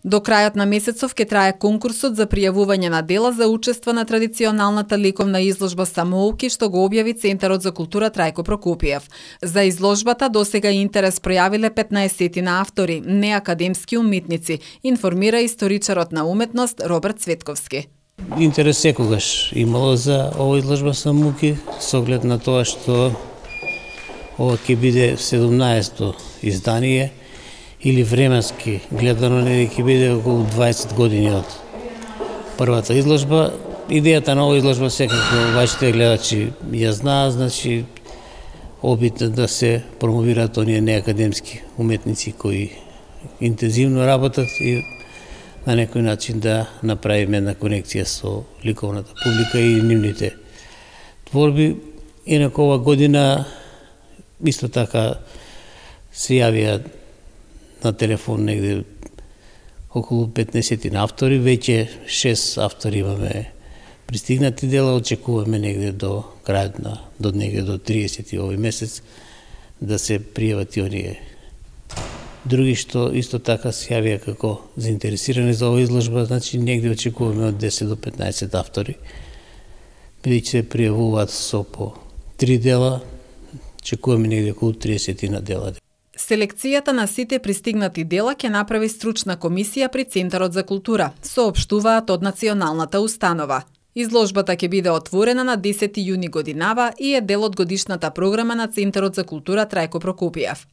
До крајот на месецов ќе трае конкурсот за пријавување на дела за учество на традиционалната ликовна изложба Самоуки, што го објави Центарот за култура Трајко Прокопиев. За изложбата досега интерес пројавиле 15 на автори, неакадемски уметници, информира историчарот на уметност Роберт Цветковски. Интерес секогаш имало за оваа изложба Самоуки, со оглед на тоа што ова ќе биде 17-то издание, или временски гледано ќе биде околу 20 години од првата изложба. Идејата на оваа изложба секако вашите гледачи ја знаат, значи обидно да се промовираат оние неакадемски уметници кои интензивно работат и на некој начин да направиме една конекција со ликовната публика и нивните творби. Инаку ова година исто така се јавија на телефон негде околу 15 на автори, веќе 6 автори имаме пристигнати дела, очекуваме негде до крајот на до 30 овој месец да се пријават и оние други што исто така се јавија како заинтересирани за оваа изложба, значи негде очекуваме од 10 до 15 автори, бидејќи се пријавуваат со по 3 дела, очекуваме негде околу 30 на дела. Селекцијата на сите пристигнати дела ќе направи стручна комисија при Центарот за култура, соопштуваат од националната установа. Изложбата ќе биде отворена на 10 јуни годинава и е дел од годишната програма на Центарот за култура Трајко Прокопиев.